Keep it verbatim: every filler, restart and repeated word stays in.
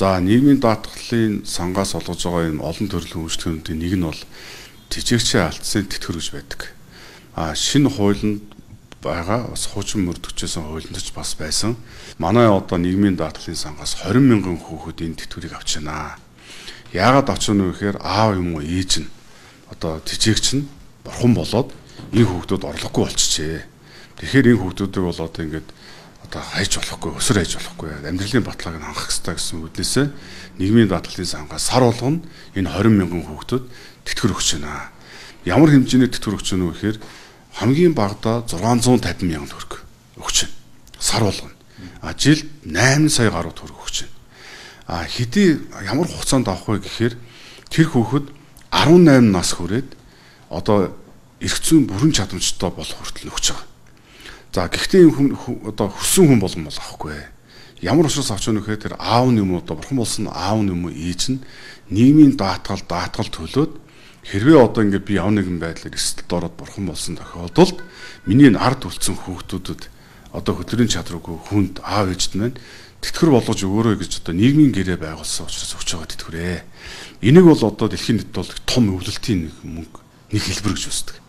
За нийгмийн даатгалын сангаас олгож байгаа юм олон төрлийн үйлчлэгчдийн нэг нь бол тэжээгчийн алдсан тэтгэр гэж байдаг. А шинэ хуулинд байгаа бас хуучин мөрдөгчөөсөн хуулинд ч бас байсан. Манай одоо нийгмийн даатгалын сангаас двадцать мянган хүүхэд энэ тэтгэврийг авч байна. Яагаад авч байна вэ гэхээр аав юм уу ээж нь одоо тэжээгч нь бурхан болоод энэ хүүхдүүд орлогогүй болчихжээ. Тэгэхээр энэ хүүхдүүдийг бол одоо ингээд одоо хайж болохгүй, өсөр хайж болохгүй, амьдралын баталгааг нь хангах хэрэгтэй гэсэн үгнээсээ нийгмийн даатгалын сангаас сар болгоно энэ двадцать мянган хүүхдүүд тэтгэр өгч байна. Ямар хэмжээний тэтгэр өгч байна вэ гэхээр хамгийн багадаа зургаан зуун тавин мянган төгрөг өгч байна. Сар болгоно. А жилд найман сая гаруй төгрөг өгч байна. А хэдий ямар хугацаанд авах вэ гэхээр тэр хүүхэд арван найман нас хүрээд одоо эрх зүйн бүрэн чадамжтай болох хүртэл өгч байгаа. За гэхдээ энэ хүн одоо хүссэн хүн болгон бол авахгүй. Ямар учраас авч байгаа нөхөө тэр аав нь юм уу одоо бурхан болсон аав нь юм уу ээж нь нийгмийн даатгал даатгал төлөөд хэрвээ одоо ингээд би яв нэгэн байдлаар эсэлд ороод бурхан болсон тохиолдолд миний ард үлдсэн хүүхдүүдэд одоо хөтрийн чадваргүй хүнд аав ээжд нь тэтгэр болгож өгөөрэй гэж одоо нийгмийн гэрээ байгуулсан учраас өгч байгаа тэтгэрээ. Энийг бол одоо дэлхийн нийтэд бол том өвлөлтийн нэг мөнгө нэг хэлбэр гэж үздэг.